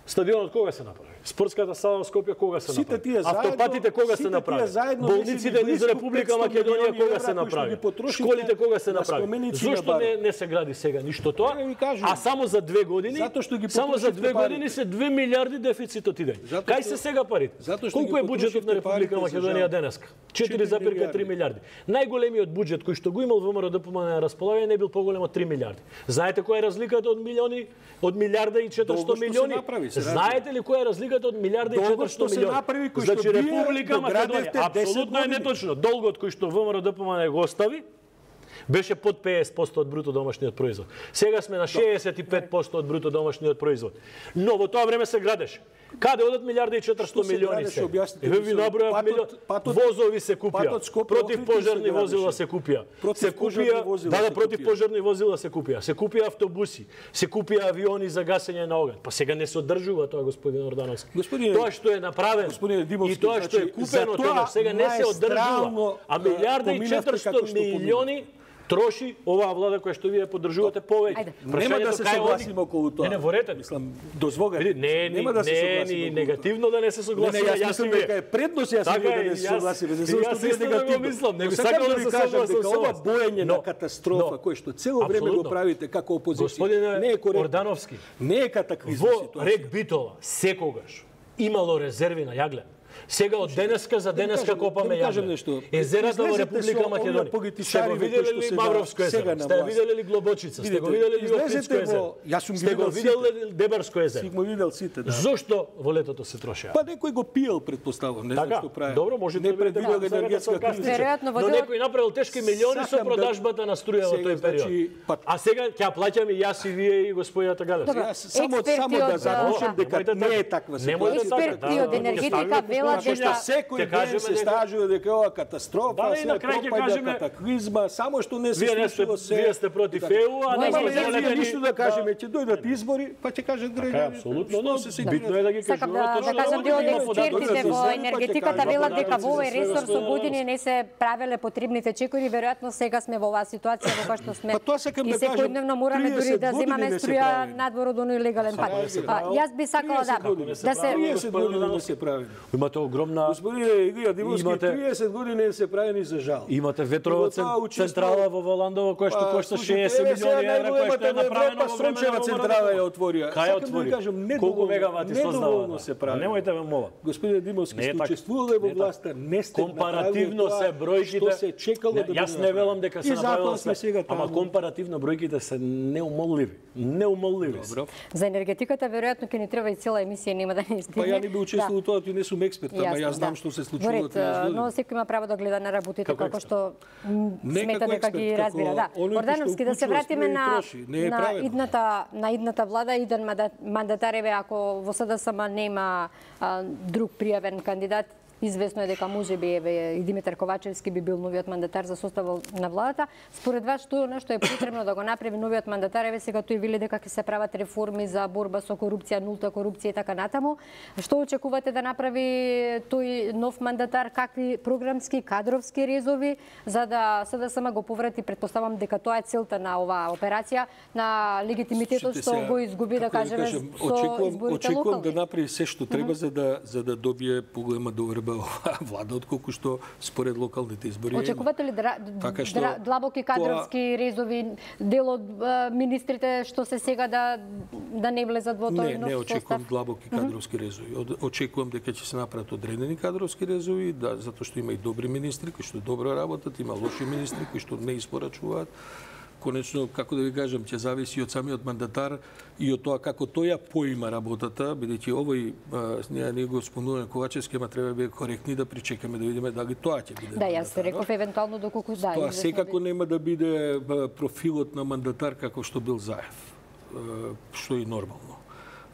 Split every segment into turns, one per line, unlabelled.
Стадионот кога се направи? Спортската сала во Скопје кога се направи? Автопатите кога се направи? Болниците низ Република Македонија кога се направи? Школите кога се направи? Зошто не се гради сега ништо тоа? А само за 2 години? Само за 2 години се 2 милиарди дефицитот иде. Кај се сега парите? Колку е буџетот на Република Македонија денеска? 4,3 милиарди. Најголемиот буџет кој што го имал ВМРО ДПМН на располагање не бил поголем од 3 милиарди. Знаете која е разликата од милиарда и 400 милиони? Знаете ли која е разликата од милиарда и 400 милиони? Значи Република Македонија апсолутно е неточно. Долгот кој што ВМРО ДПМН го остави беше под 50% од бруто домашниот производ. Сега сме на 65% од бруто домашниот производ. Но во тоа време се градеше. Каде одат милиарда и 400 милиони се? Еве ви набројав милиони. Возови се купија. Противпожарни возила се купија. Се купија, да, противпожарни возила се купија. Се купија автобуси, се купија авиони за гасење на оган. Па сега не се одржува тоа, господин Ордановски. Тоа што е направено и тоа што е купено тоа сега не се одржува. А милиарда и 400 милиони троши оваа влада која што вие поддржувате повеќе.
Нема да се согласиме околу тоа.
Не, ворете.
Мислам, дозволете.
Нема да се согласиме. Не, негативно да не се согласиме.
Јас мислам дека е предност да не се согласиме.
Јас исто негативно мислам. Не би сакал да се согласам со
ова боење на катастрофа кој што цело време го правите како опозиција не е коректно.
Ордановски.
Не е катаклизма ситуација.
Во Рек Битола секогаш имало резерви на јаглен. Сега од денеска за денеска копаме јаглен. Езерата во Република Македонија. Сте го виделе ли Мавровско езеро? Сте виделе ли Глобочица? Сте го виделе ли Охридско езеро? Сте го виделе ли Дебарско езеро?
Си го видел сите, да.
Зошто во летото се трошеа?
Па некој го пиел, предпоставам, не знам што прави.
Добро, може да
предвидел енергетска криза.
Но некој направил тешки милиони со продажбата на струја во тој период. А сега ќе ја плаќаме јас и вие и господјата Галевска.
Само да заклучам дека не е таква ситуација.
Експерти од енергетика велат дека
секој ден се стажува дека ова катастрофа, се пропаѓа катаклизма, само што не се случило се.
Вие сте против ЕУ, а не
можеме ништо да кажеме, ќе дојдат избори, па ќе кажат граѓани.
Апсолутно, но битно е да ги кажуваме.
Сакам да кажам дел од експертите во енергетиката велат дека во овој ресор со години не се правеле потребните чекори, веројатно сега сме во оваа ситуација во која што сме. И секојдневно мораме дури да земаме струја надвор од оној легален пат. Јас би сакала да се
30 години не се прави.
Имате огромна
Господине Илија Димовски, 30 години се правени за жал.
Имате ветрова централа во Воландово која што кошта 60 милиони евра, која што е направена во време на
централа ја отворија.
Кај отвори? Колку мегавати создава?
се прави.
Немојте ме молам.
Господине Димовски, сте учествувале во власта, не сте
компаративно се бројките.
Што се чекало да биде.
Јас не велам дека се направило се, ама компаративно бројките се неумолливи. Неумолливи.
За енергетиката веројатно ќе ни треба и цела емисија, нема да не стигне.
Па ја не би учествувал тоа, ти не сум експерт, ама јас знам што се случува во тие години.
Но секој има право да гледа на работите како што смета дека ги разбира. Да. Ордановски, да се вратиме на идната влада, иден мандатареве, ако во СДСМ нема друг пријавен кандидат, известно е дека можеби и Димитар Ковачевски би бил новиот мандатар за составот на владата. Според вас што нешто е потребно да го направи новиот мандатар? Еве сега тој вели дека ќе се прават реформи за борба со корупција, нулта корупција и така натаму. Што очекувате да направи тој нов мандатар? Какви програмски, кадровски резови за да СДСМ го поврати? Предпоставам дека тоа е целта на оваа операција, на легитимитетот што го изгуби, да кажеме, со изборите локални.
Очекувам да направи се што треба за да добие поголема доверба влада, отколку што според локалните избори.
Очекувате ли длабоки кадровски резови, дел од министрите што се сега да не влезат во тој нов состав?
Не очекувам длабоки кадровски резови. Очекувам дека ќе се направат одредени кадровски резови, затоа што има и добри министри кои што добро работат, има лоши министри кои што не испорачуваат. Конечно, како да ви кажам, ќе зависи од самиот мандатар и од тоа како тој ја поима работата, бидејќи овој ние го спомнуваме Ковачевски, ама треба да биде коректни да причекаме да видиме дали тоа ќе биде.
Да, јас реков евентуално доколку да.
Тоа секако нема да биде профилот на мандатар како што бил Заев, што е нормално.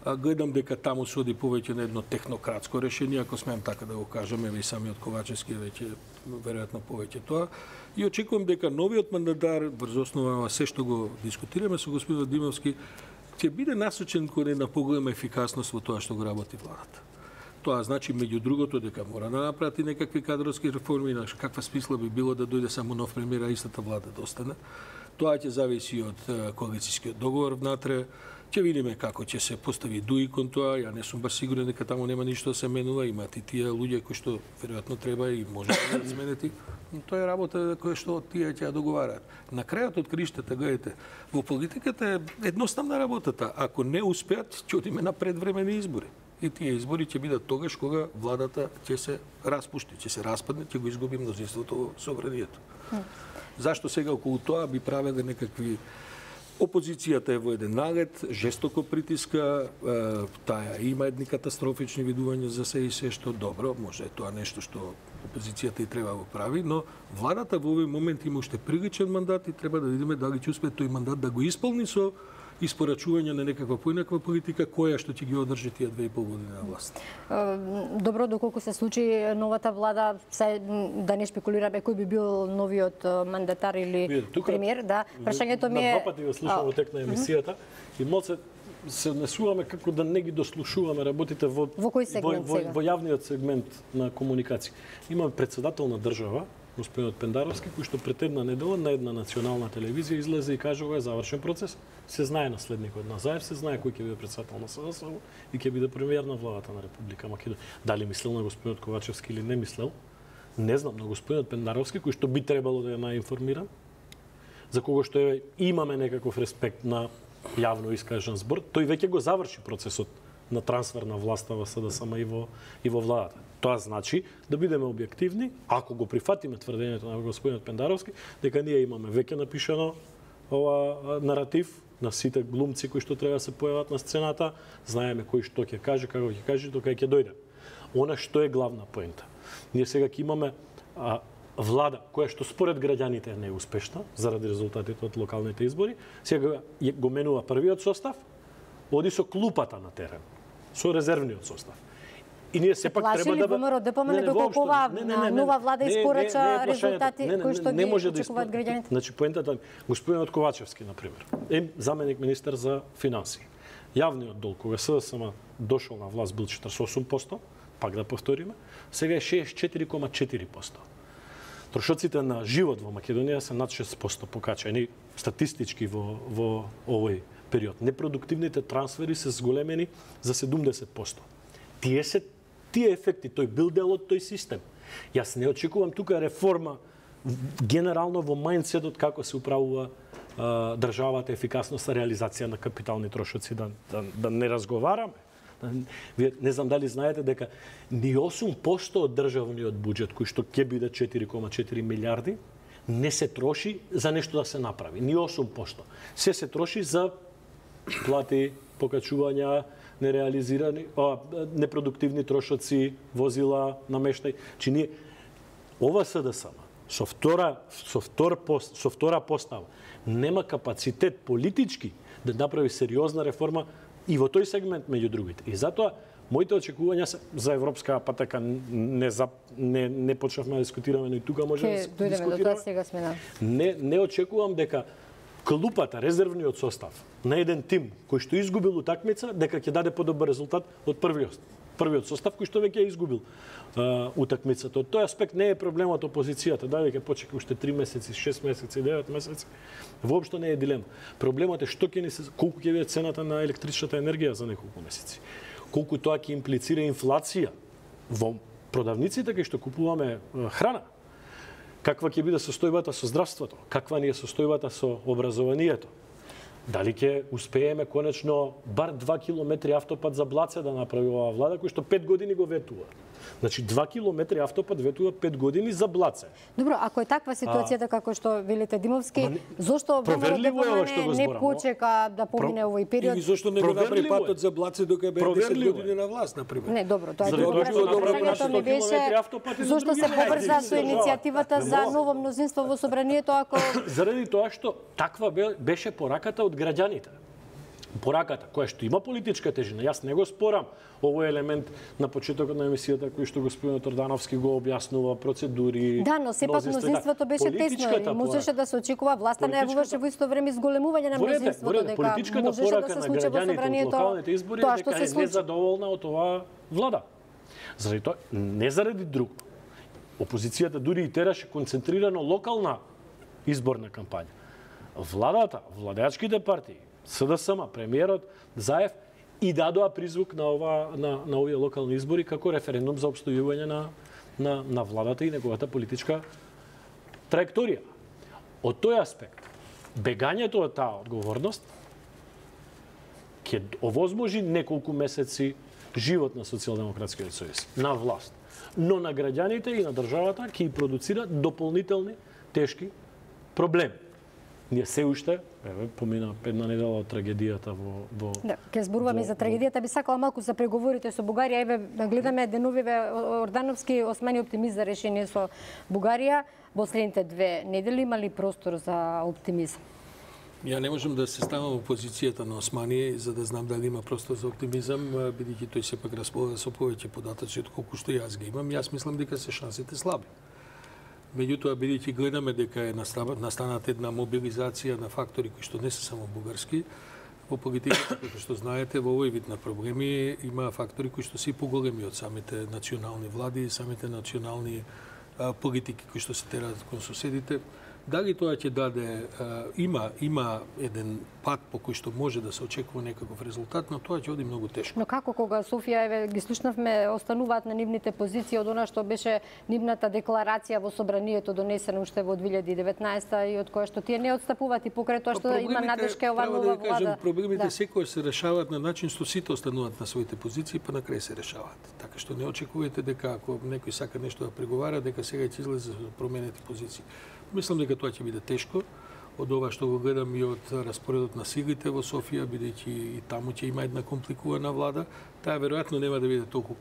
Гледам дека таму се оди повеќе на едно технократско решение, ако смеам така да го кажам, и самиот Ковачевски веќе веројатно повеќе тоа. И очекувам дека новиот мандатар, врз основа на се што го дискутираме со господин Димовски, ќе биде насочен кон една поголема ефикасност во тоа што го работи владата. Тоа значи, меѓу другото, дека мора да направи некакви кадровски реформи, каква смисла би било да дојде само нов премиер, а истата влада да остане. Тоа ќе зависи од коалицијскиот договор внатре. Ќе видиме како ќе се постави дуи кон тоа. Ја не сум баш сигурен дека таму нема ништо да се менува. Имат и тие луѓе кои што веројатно треба и може да се изменети. Но тоа е работа која што тие ќе ја договараат. На крајот од криштата, гледате, во политиката е едноставна работата. Ако не успеат, ќе одиме на предвремени избори. И тие избори ќе бидат тогаш кога владата ќе се распушти, ќе се распадне, ќе го изгуби мнозинството во собранието. Зашто сега околу тоа би правеле некакви... Опозицијата е во еден налет, жестоко притиска, таа има едни катастрофични видувања за се и се што добро, може тоа нешто што опозицијата и треба да го прави, но владата во овој момент има уште приличен мандат и треба да видиме дали ќе успее тој мандат да го исполни со испорачување на некаква поинаква политика која што ќе ги одржи тие 2,5 години на власт.
Добро, доколку се случи новата влада, да не шпекулираме кој би бил новиот мандатар или премиер, да. Прашањето ми е...
На два пати го слушам во тек на емисијата и малце се однесуваме како да не ги дослушуваме работите во јавниот сегмент на комуникација. Имаме председател на држава, господинот Пендаровски, кој што пред една недела на една национална телевизија излезе и кажа ова е завршен процес. Се знае наследникот на Заев, се знае кој ќе биде председател на СДСМ и ќе биде премиер на владата на Република Македонија. Дали мислел на господинот Ковачевски или не мислел, не знам, но господинот Пендаровски, кој што би требало да е најинформиран, за кого што имаме некаков респект на јавно искажан збор, тој веќе го заврши процесот на трансфер на власта во СДСМ и во владата. Тоа значи да бидеме објективни, ако го прифатиме тврдењето на господинот Пендаровски, дека ние имаме веќе напишано ова наратив на сите глумци кои што треба да се појават на сцената, знаеме кој што ќе каже, како ќе каже, тока ќе дојде. Она што е главна поента. Ние сега ќе имаме влада која што според граѓаните е неуспешна заради резултатите од локалните избори, сега го менува првиот состав, оди со клупата на терен, со резервниот состав. И ние сепак треба да
ВМРО да помне доколку оваа нова влада испорача резултати кои што ги очекуваат граѓаните.
Значи поентата господинот Ковачевски на пример е заменик министер за финансии. Јавниот долг кога СДСМ дошол на власт бил 48%, пак да повториме, сега е 64,4%. Трошоците на живот во Македонија се над 6% покачени статистички во овој период. Непродуктивните трансфери се зголемени за 70%. Тие ефекти, тој бил дел од тој систем. Јас не очекувам тука реформа генерално во мајндсетот како се управува државата, ефикасноста, реализација на капитални трошоци, да не разговараме. Вие не знам дали знаете дека ни 8% од државниот буџет, кој што ќе биде 4,4 милиарди, не се троши за нешто да се направи. Ни 8%. Се троши за плати, покачувања, нереализирани, непродуктивни трошоци, возила, намештај. Чи ние ова СДСМ со втора постава нема капацитет политички да направи сериозна реформа и во тој сегмент меѓу другите. И затоа моите очекувања се за европска патека не почнавме да дискутираме, но и тука може да дискутираме. Не очекувам дека клупата, резервниот состав на еден тим кој што изгубил утакмица, дека ќе даде подобар резултат од првиот состав кој што веќе изгубил утакмицата. Од тој аспект не е проблемот опозицијата, да веќе почека уште 3 месеци, 6 месеци, 9 месеци. Воопшто не е дилема. Проблемот е што ќе ни се колку ќе биде цената на електричната енергија за неколку месеци. Колку тоа ќе имплицира инфлација во продавниците кај што купуваме храна. Каква ќе биде состојбата со здравството? Каква ни е состојбата со образованието? Дали ќе успееме конечно бар 2 километри автопат за Блаце да направи оваа влада, кој што 5 години го ветува. Значи 2 километри автопат ветува 5 години за Блаце.
Добро, ако е таква ситуацијата како што велите Димовски, зошто не почека да помине овој период?
И зошто не го направи патот за Блаце докога бе 10 години на власт, на пример?
Не, добро, тоа е добро. Прашањето ми беше зошто се побрза со иницијативата за ново мнозинство во собранието ако
заради тоа што таква беше пораката од граѓаните. Пораката која што има политичка тежина, јас не го спорам овој елемент на почетокот на емисијата кој што господинот Ордановски го објаснува процедури.
Да, но сепак мнозинството беше тесно и можеше да се очекува власта не јавуваше во исто време зголемување на мнозинството, дека
политичката порака на граѓаните од локалните избори е дека е незадоволна од оваа влада. Заради тоа, не заради друго. Опозицијата дури и тераше концентрирано локална изборна кампања. Владата, владеачките партии, СДСМ, премиерот Заев и дадоа призвук на овие локални избори како референдум за опстојување на владата и неговата политичка траекторија. Од тој аспект, бегањето од таа одговорност ќе овозможи неколку месеци живот на Социјалдемократскиот сојуз, на власт. Но на граѓаните и на државата ќе продуцира дополнителни тешки проблеми. Ние се уште, помина една недела од трагедијата во
Да, ќе зборуваме за трагедијата, би сакала малку за преговорите со Бугарија. Еве гледаме деновиве Ордановски османи оптимист за решение со Бугарија. Во следните 2 недели има ли простор за оптимизам?
Ја не можам да се ставам во позицијата на Османи за да знам дали има простор за оптимизам, бидејќи тој сепак располага со повеќе податоци од колку што јас ги имам. Јас мислам дека се шансите слаби. Меѓутоа, бидејќи гледаме дека е настанат една мобилизација на фактори кои што не се само бугарски, во политиката, како што знаете, во овој вид на проблеми има фактори кои што се поголеми од самите национални влади и самите национални политики кои што се тераат кон соседите. Дали тоа ќе даде, има еден пат по кој што може да се очекува некаков резултат, но тоа ќе оди многу тешко.
Но како кога Софија, еве, ги слушнавме, остануваат на нивните позиции од она што беше нивната декларација во собранието донесена уште во 2019 и од која што тие не отстапуваат и покрај тоа што има надршка ова нова влада.
Проблемите секој се решаваат на начин што сите остануваат на своите позиции, па на крај се решаваат. Така што не очекувате дека ако некој сака нешто да преговара, дека сега ќе излезе за променети позиции. Мислам дека тоа ќе биде тешко, од ова што го гледам и од распоредот на силите во Софија, бидејќи и таму ќе има една компликувана влада. Таа веројатно нема да биде толку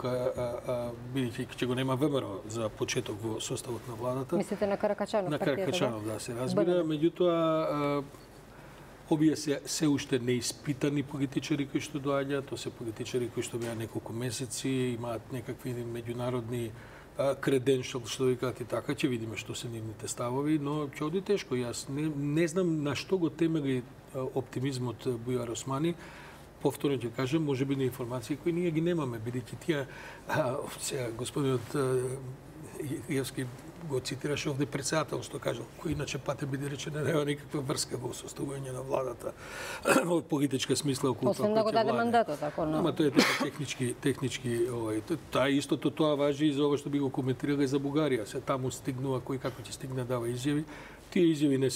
бидејќи ќе го нема ВМРО за почеток во составот на владата.
Мислите на Каракачанов?
На Каракачанов, да, се разбира. Меѓутоа, овие се уште неиспитани политичари кои што доаѓаат, тоа се политичари кои што беа неколку месеци, имаат некакви меѓународни креденшал, што викаат и така, ќе видиме што се нивните ставови, но ќе оди тешко. Јас не знам на што го темели оптимизмот Бујар Османи. Повторно ќе кажем, може би на информации кои ние ги немаме, бидејќи тие сега господинот Јевски го цитираше овде председателство, кажал, кој иначе пате биде речено нема никаква врска во составување на владата во политичка смисла околу
тоа. Освен да го даде мандатот, ако не.
Ама тоа е технички таа истото тоа важи и за ова што би го коментирале за Бугарија. Се таму стигнува кој како ќе стигне дава изјави. Тие изјави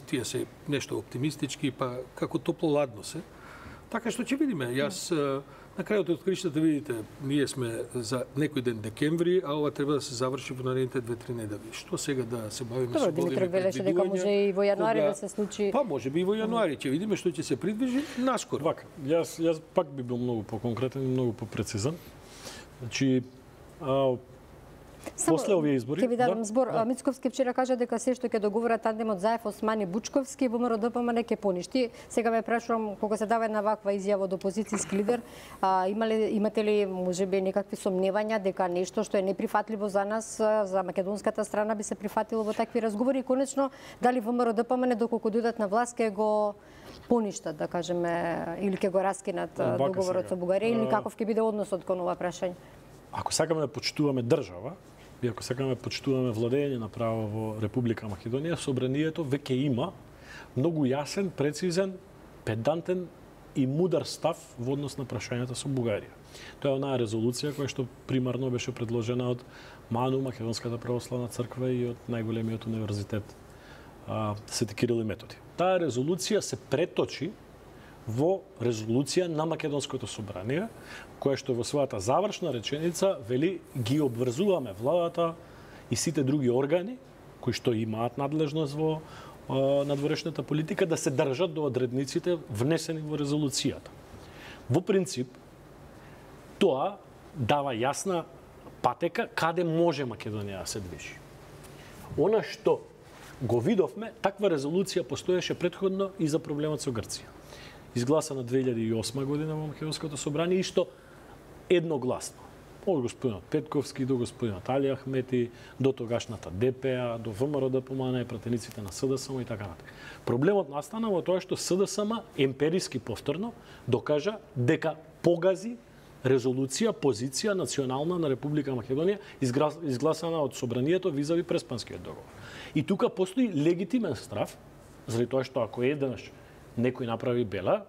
тие се нешто оптимистички, па како топло-ладно се. Така што ќе видиме. Јас на крајот од кришата видите, ние сме за некој ден декември, а ова треба да се заврши во наредните 2-3 недели. Што сега да се бавиме со големи
предвидувања? Велеше дека може и во јануари да се случи.
Па може би и во јануари, ќе видиме што ќе се придвижи наскоро.
Вака, јас пак би бил многу поконкретен и многу попрецизен. Значи, после овие избори,
ќе ви дадам збор. Мицковски вчера кажа дека се што ќе договора тандемот Заев Османи Бучковски во МРДПМН ќе поништи. Сега ме прашувам кога се дава една ваква изјава од опозицијски лидер, имате ли можеби некакви сомневања дека нешто што е неприфатливо за нас, за македонската страна би се прифатило во такви разговори и конечно дали во МРДПМН доколку дојдат на власт ќе го поништат, да кажеме, или ќе го раскинат договорот со Бугарија или каков ќе биде односот кон ова прашање?
Ако сакаме да почитуваме држава, и ако сакаме да почитуваме владење на право во Република Македонија, собранието веќе има многу јасен, прецизен, педантен и мудар став во однос на прашањата со Бугарија. Тоа е онаа резолуција која што примарно беше предложена од МАНУ, Македонската православна црква и од најголемиот универзитет Свети Кирил и Методи. Таа резолуција се преточи во резолуција на Македонското собрание, која што во својата завршна реченица вели ги обврзуваме владата и сите други органи кои што имаат надлежност во надворешната политика да се држат до одредниците внесени во резолуцијата. Во принцип, тоа дава јасна патека каде може Македонија да се движи. Она што го видовме, таква резолуција постоеше претходно и за проблемот со Грција. Изгласана 2008 година во Македонското собрание, исто едногласно. Од господинот Петковски до господинот Али Ахмети, до тогашната ДПА, до ВМРО-ДПМН, пратениците на СДСМ и така натаму. Проблемот настана во тоа што СДСМ емпириски повторно докажа дека погази резолуција, позиција национална на Република Македонија изгласана од собранието визави Преспанскиот договор. И тука постои легитимен страв заради тоа што ако еднаш некој направи бела,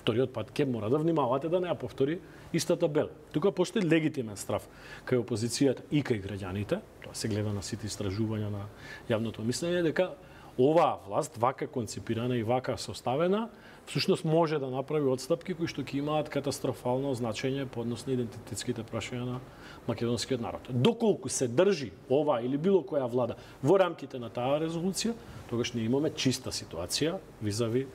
вториот пат ќе мора да внимавате да не ја повтори истата бела. Тука постои легитимен страв кај опозицијата и кај граѓаните, тоа се гледа на сите истражувања на јавното мислење, дека оваа власт, вака концепирана и вака составена, всушност може да направи отстапки кои што ќе имаат катастрофално значење по однос на идентитетските прашања на македонскиот народ. Доколку се држи ова или било која влада во рамките на таа резолуција, тогаш ние имаме чиста ситуација визави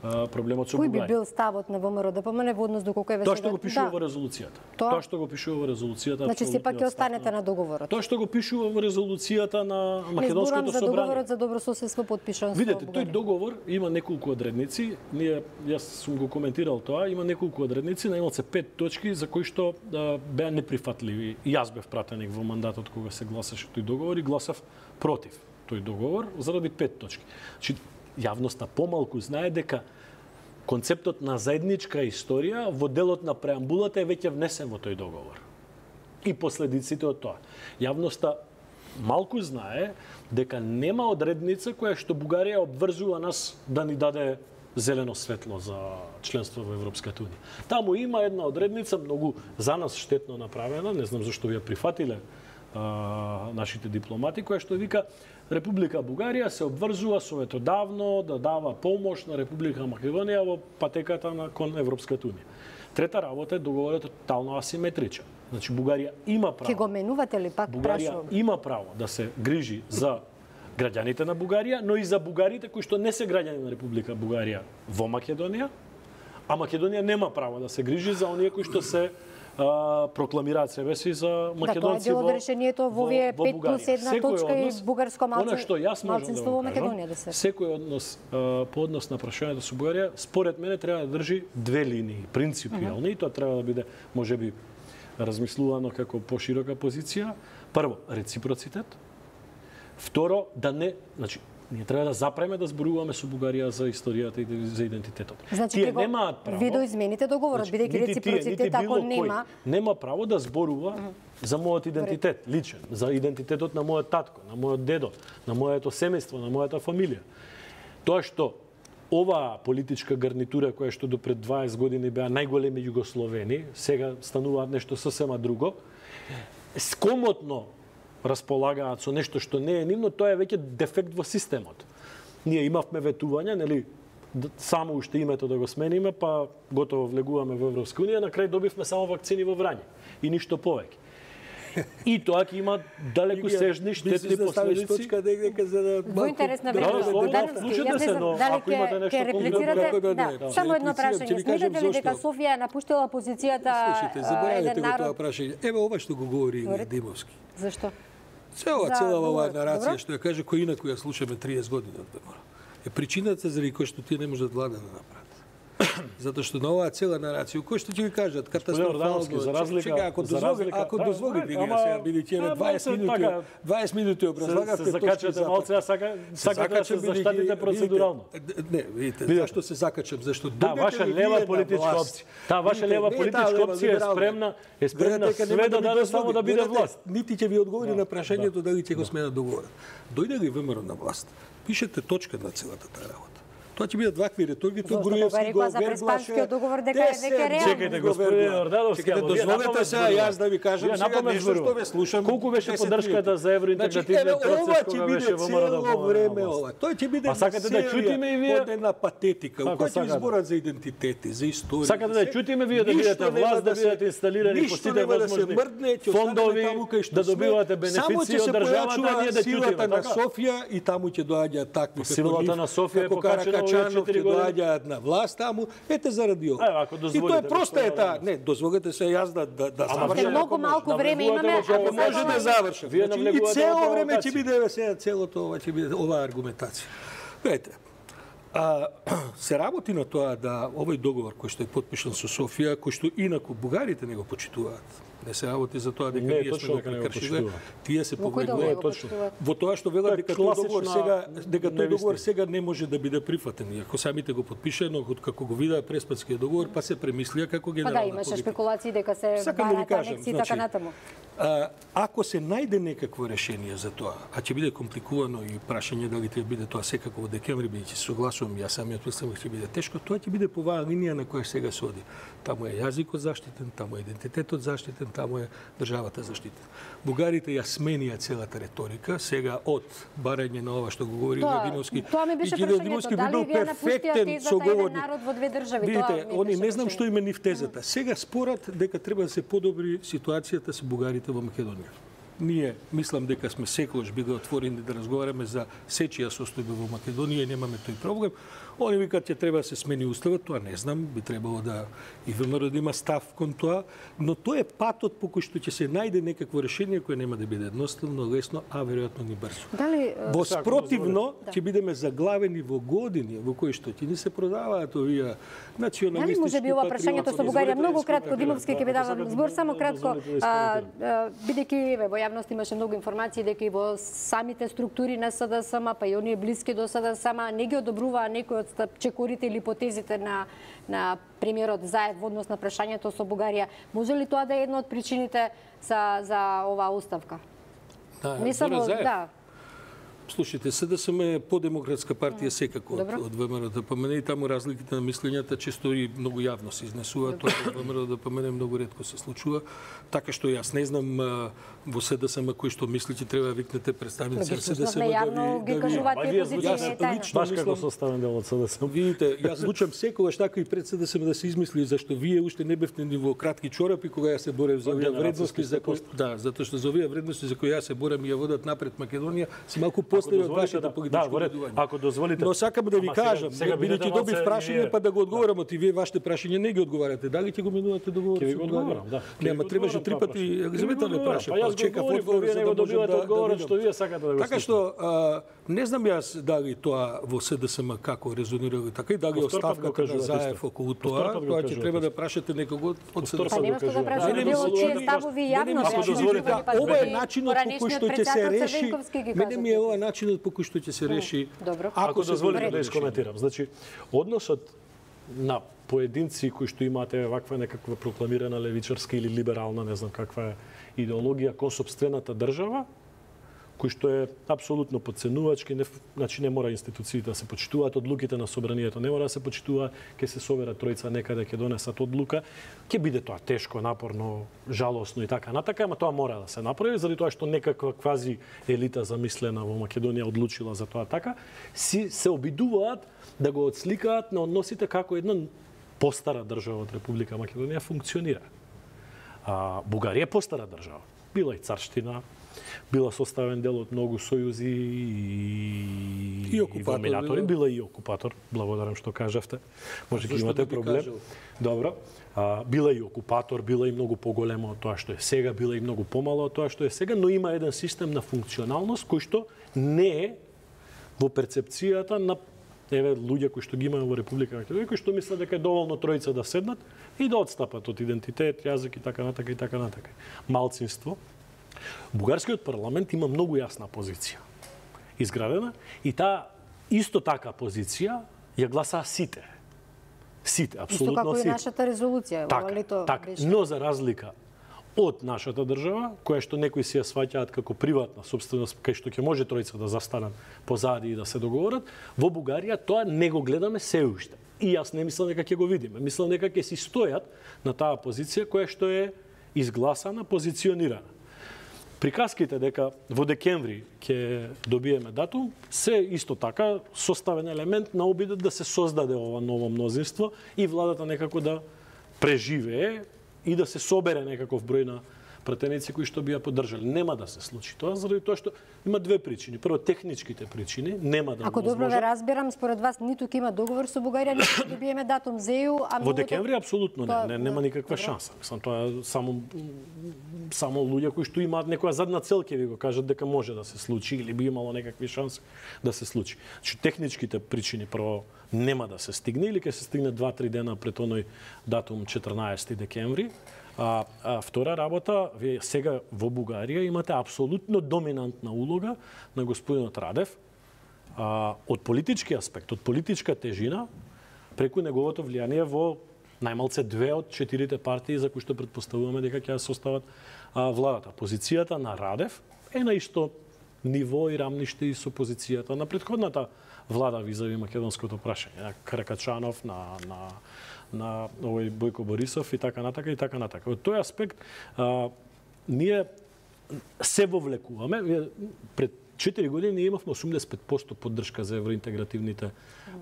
проблемот со Бугарија.
Кој би бил ставот на ВМРО ДПМН во однос доколку е
тоа што го пишува во резолуцијата. Тоа што го пишува во резолуцијата.
Значи сепак ќе останете на договорот.
Тоа што го пишува во резолуцијата на македонското собрание.
За договорот за добрососедство подпишан со Бугарија.
Видете, тој договор има неколку одредници. Јас сум го коментирал тоа, има неколку одредници, најмал се 5 точки за кои што беа неприфатливи. И јас бев пратеник во мандатот кога се гласаше тој договор и гласав против тој договор заради 5 точки. Значи јавноста помалку знае дека концептот на заедничка историја во делот на преамбулата е веќе внесен во тој договор. И последиците од тоа. Јавноста малку знае дека нема одредница која што Бугарија обврзува нас да ни даде зелено светло за членство во Европската унија. Таму има една одредница многу за нас штетно направена, не знам зашто ви ја прифатиле нашите дипломати, која што вика Република Бугарија се обврзува советодавно да дава помош на Република Македонија во патеката кон Европската унија. Трета работа е договорот тотално асиметричен. Значи Бугарија има право.
Ќе го менувате ли пак
Бугарија има право да се грижи за граѓаните на Бугарија, но и за бугарите кои што не се граѓани на Република Бугарија во Македонија, а Македонија нема право да се грижи за оние кои што се прокламираат себе си за македонци
во Бугарија. Да, тоа е дело од решението во овие 5 плюс 1 точка и бугарско малцинство во Македонија да се.
Секој однос по однос на прашањето со Бугарија, според мене треба да држи две линии, принципијални, и тоа треба да биде можеби размислувано како поширока позиција. Прво, рецепроцитет. Второ, да не, значи ние треба да запреме да зборуваме со Бугарија за историјата и за идентитетот.
Значи, тие немаат право. Ви доизмените договорот, бидејќи реципроцитет ако
нема право да зборува за мојот идентитет, личен, за идентитетот на мојот татко, на мојот дедо, на моето семејство, на мојата фамилија. Тоа што оваа политичка гарнитура која што до пред 20 години беа најголеми југословени, сега стануваат нешто сосема друго, скомотно располагаат со нешто што не е нивно, тоа е веќе дефект во системот. Ние имавме ветување, нели, само уште името да го смениме, па готово влегуваме во Европска унија, на крај добивме само вакцини во Врање и ништо повеќе. И тоа ќе има далеку сежни штетни последици.
Во интерес на времето,
слушате се, но ако имате нешто
конкретно, само едно прашање. Сметате ли дека Софија напуштила позицијата
еден народ? Ево ова што го говори Димовски.
Зашто?
Цела оваа нарација што ја каже кој инаку ја слушаме 30 години од ВМРО. Е причината заради кој што тие не можат влада да направат. Затоа што на оваа цела нарација, кој што ќе ви кажат катастрофално,
за разлика,
ако дозволите сега бидејќи 20 минути образлагавте
точки за малце, сакате да се заштатите процедурално.
Не, видите, зашто се закачам, зашто
ваша лева политичка опција. Таа ваша лева политичка опција е спремна све да даде само да биде власт.
Нити ќе ви одговори на прашањето дали ќе го сменат договорот. Дојде ли ВМРО на власт? Пишете точка на целата таа работа. Тоа ќе бидат вакви риторики, тоа Груевски го
вербаше. Договор дека е веќе реално.
Чекајте, господин Ордановски,
дозволете се јас да ви кажам сега нешто што ве слушам.
Колку беше поддршката за евроинтегративниот процес кога беше во
ВМРО време ова? Тоа ќе биде
сакате да чутиме и вие
една патетика, која ќе зборат за идентитети, за историја.
Сакате да чутиме вие да бидете власт, да бидете инсталирани по сите возможни фондови, да добивате бенефиции од државата, ние да чутиме
на Софија и таму ќе доаѓаат такви
силата на Софија е покачена.
Качанов ќе доаѓаат на власт таму, ете заради ова. И тоа е проста е таа. Не, дозволете се јас да завршам.
Многу малку време имаме,
ако може да завршам. И цело време ќе биде сега целото ова ќе биде оваа аргументација. Гледайте, Се работи на тоа да овој договор кој што е потпишан со Софија, кој што инаку бугарите не го почитуваат. Не се работи за тоа дека ние сме го прекршиле, тие се поведуваат во тоа што велат дека тој договор сега не може да биде прифатен. Иако самите го подпишано, како го видаа Преспанскиот договор, па се премислија како генерална
политика. Имаше спекулации дека се бараат анекси и така натаму.
Ако се најде некакво решение за тоа, а ќе биде компликувано и прашање дали ќе биде тоа секако во декември, бидејќи согласувам, јас самиот мислам дека ќе биде тешко, тоа ќе биде по оваа линија на која сега се оди. Таму е јазикот заштитен, таму е идентитетот заштитен, таму е државата заштитена. Бугарите ја сменија целата реторика, сега од барање на ова што го говори Радиновски.
Тоа ми беше прашањето, дали вие напуштија тезата еден народ во две држави?
Видите, они не знам што има нив тезата. Сега спорат дека треба да се подобри ситуацијата со бугарите во Македонија. Ние мислам дека сме секогаш биле отворени да разговараме за сечија состојба во Македонија и немаме тој проблем. Они викаат ќе треба да се смени уставот, тоа не знам, би требало да и ВМРО да има став кон тоа, но тоа е патот по кој што ќе се најде некакво решение кое нема да биде едноставно, лесно, а веројатно ни брзо. Во спротивно ќе бидеме заглавени во години во кои што ќе ни се продаваат овие националистички.
Дали може би ова прашањето со Бугарија многу кратко, Димовски ќе ви давам збор само кратко, бидејќи во јавност имаше многу информации дека и во самите структури на СДСМ, па и оние блиски до СДСМ не ги одобруваа некои од чекорите или ипотезите на премиерот Заев во однос на прашањето со Бугарија. Може ли тоа да е една од причините за оваа оставка?
Не само да. Слушайте, СДСМ е подемократска партија секако од ВМРО да помене и таму разликите на мислењата често и многу јавно се изнесуваат, тоа од ВМРО да помене многу ретко се случува. Така што јас не знам во СДСМ кој што мисли че треба да викнете представници на СДСМ да ви
кажуваат
баш како составен дел од СДСМ.
Видите, јас звучам секогаш така и пред СДСМ да се измисли зашто вие уште не бевте ни во кратки чорапи кога јас се борев за овие вредности за кои затоа што за овие вредности за кои јас се борам и ја водат напред Македонија, си малку после од вашата политичко
одредување. Ако дозволите.
Но сакам да ви кажам, бидејќи добив прашање па да го одговорам, а вие вашите прашања не ги одговарате. Дали ќе го минувате договорот?
Ќе ви го одговорам, да.
Нема, требаше 3 пати Елизавета да праша.
Па јас чекав одговор за да добивате одговорот што вие сакате да го
Така што не знам јас дали тоа во СДСМ како резонира така и дали оставката на Заев околу тоа ќе треба да прашате некого од СДСМ.
Па нема што да прашате, било чие ставови јавно.
Ова е начинот по кој што ќе се реши. Мене ми е ова начинот по кој што ќе се реши.
Ако дозволите да искоментирам. Значи, односот на поединци кои што имате ваква некаква прокламирана левичарска или либерална, не знам каква е идеологија кон сопствената држава, кој што е апсолутно подценувачки, значи не мора институциите да се почитуваат, одлуките на собранието не мора да се почитуваат, ќе се соберат тројца некаде, ќе донесат одлука, ќе биде тоа тешко, напорно, жалосно и така натака, ама тоа мора да се направи, заради тоа што некаква квази елита замислена во Македонија одлучила за тоа така, се обидуваат да го отсликаат на односите како една постара држава од Република Македонија функционира. Бугарија е постара држава. Била и царштина, била составен дел од многу сојузи и вомилатори, била и окупатор, благодарам што кажавте. Може ќе имате проблем. Добро. Била и окупатор, била и многу поголема од тоа што е сега, била и многу помала од тоа што е сега, но има еден систем на функционалност кој што не е во перцепцијата на луѓе кои што ги имаме во Република Македонија, кои што мислат дека е доволно тројца да седнат и да отстапат од идентитет, јазик и така натака и така натака. Малцинство. Бугарскиот парламент има многу јасна позиција изградена и таа исто така позиција ја гласаа сите. Сите, апсолутно сите.
Исто како и нашата резолуција.
Така, но за разлика од нашата држава, која што некои си ја сваќаат како приватна собственост, кај што ќе може тројца да застанат позади и да се договорат, во Бугарија тоа не го гледаме се уште. И јас не мислам дека ќе го видиме. Мислам дека ќе си стојат на таа позиција која што е изгласана, позиционирана. Приказките дека во декември ќе добиеме датум, се исто така составен елемент на обидот да се создаде ова ново мнозинство и владата некако да преживее и да се собере некаков број на пратеници кои што би ја поддржале. Нема да се случи тоа заради тоа што има две причини. Прво, техничките причини, нема да.
Ако добро ве разбирам, според вас ниту ќе има договор со Бугарија, ниту ќе добиеме датум за ЕУ, а
во декември апсолутно не, нема никаква шанса. Мислам, тоа само луѓе кои што имаат некоја задна цел ќе ви го кажат дека може да се случи или би имало некакви шанси да се случи. Значи техничките причини прво нема да се стигне или ќе се стигне 2-3 дена пред оној датум 14 декември. А втора работа, вие сега во Бугарија имате апсолутно доминантна улога на господинот Радев од политички аспект, од политичка тежина, преку неговото влијание во најмалце 2 од 4 партии за кои што претпоставуваме дека ќе ја состават владата. Позицијата на Радев е на исто ниво и рамниште и со позицијата на претходната влада визави македонското прашање, на Каракачанов, на овој Бојко Борисов и така натака и така натака. Од тој аспект ние се вовлекуваме. Пред 4 години имавме 85% поддршка за евроинтегративните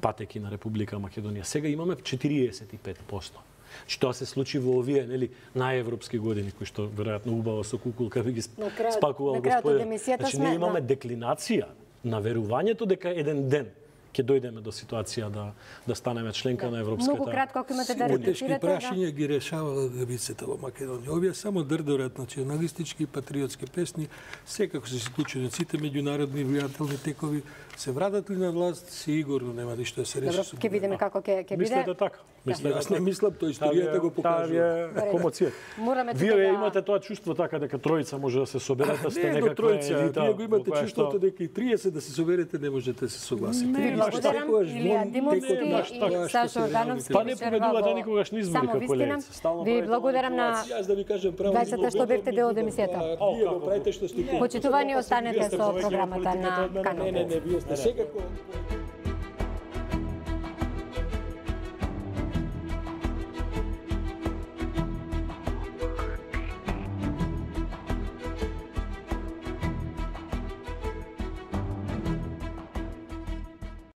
патеки на Република Македонија. Сега имаме 45%. Што се случи во овие, нели, најевропски години кои што веројатно убаво со кукулка би ги спакувал господин. Значи ние имаме деклинација на верувањето дека еден ден ќе дојдеме до ситуација да станеме членка на Европската.
Многу кратко ако имате да репетирате.
Тешки прашања ги решавала левицата во Македонија. Овие само дрдорат националистички и патриотски песни, секако се случуваат сите меѓународни влијателни текови, се вратат ли на власт, сигурно нема ништо да се реши.
Добро, ќе видиме како ќе биде.
Мислите така?
Јас не мислам, тоа историјата го покажува.
Комоција. Вие имате тоа чувство така дека тројца може да се соберете, сте некаква елита.
Вие го имате чувството дека и 30 да се соберете не можете да се согласите.
Благодарам, Илија Димовски и Сашо Ордановски.
Па не победувате никогаш на избори како левица.
Ви благодарам на
Јас да ви кажам право.
двајцата што бевте дел од емисијата.
Вие го правите што сте.
Почитувани, останете со програмата на Канал.
Не, вие сте секако